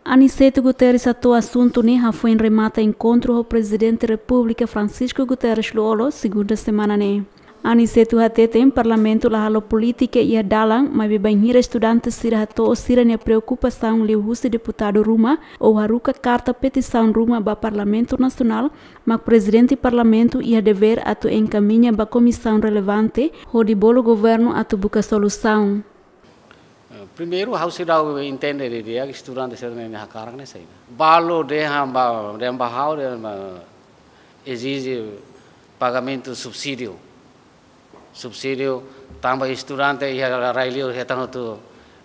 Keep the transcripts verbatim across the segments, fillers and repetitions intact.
Aniceto Guterres hato'o asuntu ne'e hafoin remata enkontru ho Prezidente Repúblika Francisco Guterres Lú-Olo, segunda semana ne'e. Aniceto hateten Parlamentu la halo polítika iha dalan, maibé bainhira estudante sira hato'o sira-nia preokupasaun liuhusi deputadu ruma ou haruka karta petisaun ruma ba Parlamentu Nasionál, mak Prezidente Parlamentu iha devér atu enkamiña ba komisaun relevante hodi bolu governu atu buka solusaun. Eh, primeiru, ha'u seidauk entende didi'ak estudante sira-nia hakarak ne'e saida. Balu dehan ba, dehan ba ha'u, dehan ba ezije pagamentu subsídiu. Subsídiu tanba estudante iha rai-li'ur hetan hotu,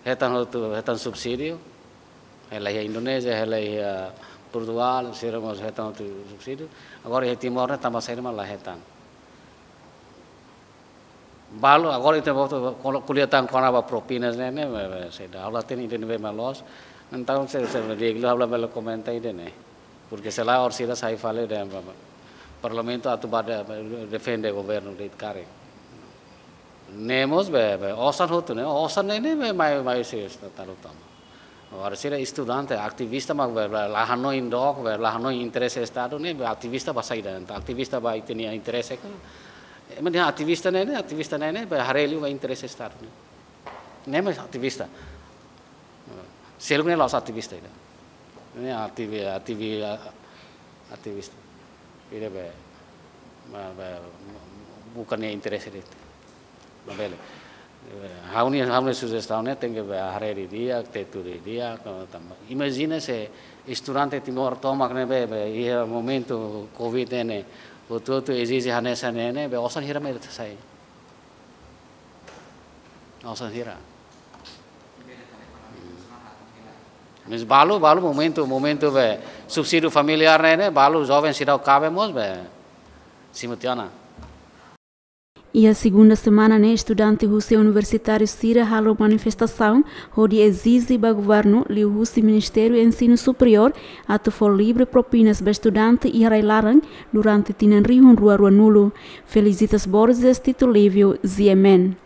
hetan hotu, hetan subsídiu. Hela iha Indonézia, hela iha Portugál, sira mós hetan hotu subsídiu. Agora iha Timor ne'e tanba saida mak la hetan. Balu, agora ita volta ko'alia tan kona-ba propinas ne'e, ne'e, ne'e, ne'e, saida, ha'u la hatene ida-ne'ebé mak loos. Entaun se, se, di'ak liu ha'u labele komenta ida-ne'e. Porke se lae orsida sai fali dehan ba, ba, Parlamentu atu ba de-, defende governu de'it karik. Ne'e mós be, be, osan hotu ne'e, osan ne'e, ne'e, be, mai, mai se esta talu tama. Agora sira estudante, ativista mak be, be, la hanoin dook, be, la hanoin interese Estadu ne'e, be, ativista ba saida, entaun ativista ba ita-nia interese ka. Ema dehan ativista ne'e, ne'e, ativista ne'e, ne'e, be, haree liu ba interese Estadu ne'e. Ne'e mak ativista. Seluk ne'e la'ós ativista ida. Ne'e ativi-, ativi-, ativista. Ida be, ma-, be, bukan nia interese de'it. Labele. Eh, ha'u-nia, ha'u-nia sujestaun ne'e tenke be haree didi'ak, tetu didi'ak, tanba. Imajina se estudante Timor tomak ne'ebé, be, iha momentu covid ne'e, hotu-hotu ezije hanesan ne'e, ne'e, be, osan hira mak ita sai. Osan hira. Mas balu, balu momentu, momentu be subsídiu familiár ne'e, ne'e, balu joven seidauk kaben mós be simu tiha ona. Iha segunda semana ne'e estudante husi universitáriu sira halo manifestasaun hodi ezije ba governu liuhusi Ministériu Ensinu Superiór atu fó livre propinas ba estudante iha rai-laran durante tinan rihun rua ruanulu. Felicitas Borges, Tito Livio, G M N.